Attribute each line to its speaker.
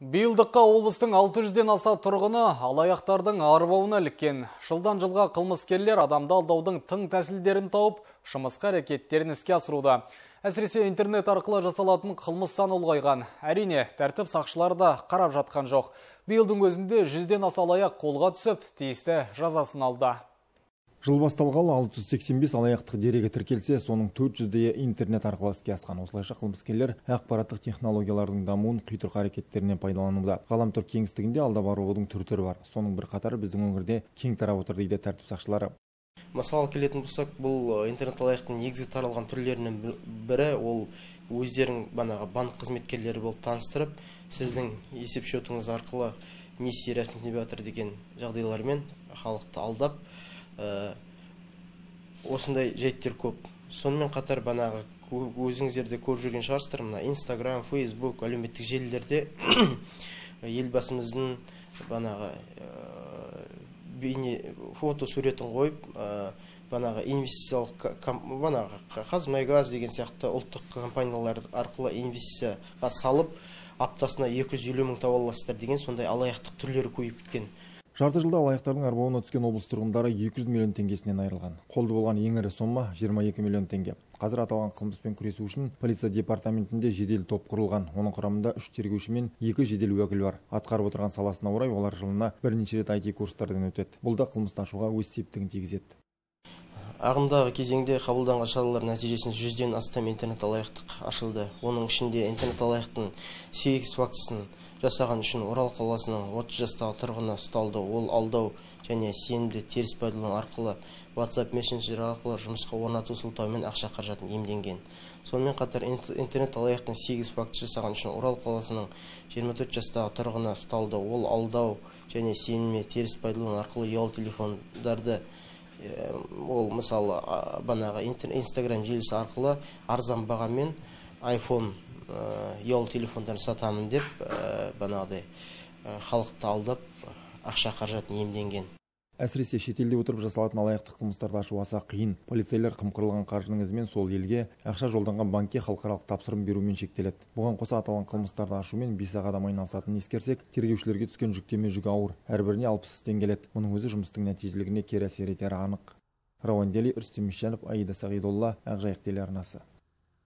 Speaker 1: Биылдыққа облыстың 600-ден аса тұрғыны алаяқтардың арбауына іліккен. Жылдан жылға қылмыскерлер адамды алдаудың тың тәсілдерін тауып, жымысқы әрекеттерін іске асыруда. Әсіресе интернет арқылы жасалатын қылмыс саны ұлғайған. Әрине, тәртіп сақшылары да қарап жатқан жоқ. Биылдың өзінде 100-ден аса алаяқ қолға түсіп, тиісті жазасын алды.
Speaker 2: Жыл басталғалы 685 алаяқтық дерегі тіркелсе, соның 400-де интернет арқылы іске асқан. Осылайша қылмыскерлер ақпараттық технологиялардың дамуын құйтырқы әрекеттерінен пайдалануда. Ғаламтор кеңістігінде алдап арылудың түр-түрі бар. Соның бір қатары біздің өңірде кең тарап отыр дейді тәртіп сақшылары.
Speaker 3: Мысалы келетін болсақ, бұл интернет алаяқтың негізгі таралған түрлерінің бірі ол өздерін банк қызметкерлері болып таныстырып, сіздің есеп шотыңыз арқылы несие рәсімдеп жатыр деген жағдайлармен халықты алдап, осындай жайттер көп. Сонымен қатар өзіңіздерде көріп жүрген шығарсыздар, Instagram, Facebook, әлеуметтік желілерде елбасымыздың фото суретін қойып, инвестициялық Қазмұнайгаз деген сияқты ұлттық компаниялар арқылы инвестицияға салып, аптасына 250 мың тауып аласыздар деген сондай алаяқтық түрлері көбейіп кеткен.
Speaker 2: Жарты жылда алаяқтардың арбауына түскен облыс тұрғындары 200 миллион теңгесінен айырылған. Қолды болған ең ірі сома 22 миллион теңге. Қазір аталған қылмыспен күресу үшін полиция департаментінде жедел топ құрылған. Оның құрамында 3 тергеуші мен 2 жедел уәкіл бар. Атқарып отырған саласына орай олар жылына бірнеше рет IT курстардан өтеді. Бұл да қылмысты ашуға өз септігін тигізеді.
Speaker 3: Ағымдағы кезеңде қабылданған шаралар нәтижесінде 100-ден астам интернет алаяқтық ашылды. Оның ішінде интернет алаяқтың 8 фактісін жасаған үшін Орал қаласының 30 жастағы тұрғыны ұсталды. Ол алдау және сенімді теріс пайдалану арқылы WhatsApp мессенджер арқылы жұмысқа орнату сылтаумен ақша қаражатын иемденген. Сонымен қатар интернет алаяқтың 8 факті жасаған үшін Орал қаласының 24 жастағы тұрғыны ұсталды. Ол алдау және сенімді теріс пайдалану арқылы ұялы телефондарды, ол мысалы Instagram желісі арқылы арзан бағамен iPhone ұялы телефондарын сатамын деп халықты алдап ақша қаражатын иемденген.
Speaker 2: Әсіресе шетелде отырып жасалатын алаяқтық қылмыстарды ашу аса қиын. Полицейлер қымқырылған қаржының ізімен сол елге ақша жолданған банкке халықаралық тапсырым берумен шектеледі. Бұған қоса аталған қылмыстарды ашумен 5 адам айналысатынын ескерсек, тергеушілерге түскен жүктеме жүгі ауыр. Әрбіріне 60 істен келеді. Мұның өзі жұмыстың нәтижелігіне кері әсер етері анық. Рауан Дели, Рүстем Мишанов, Аида Сағидолла, Ақжайық телеарнасы.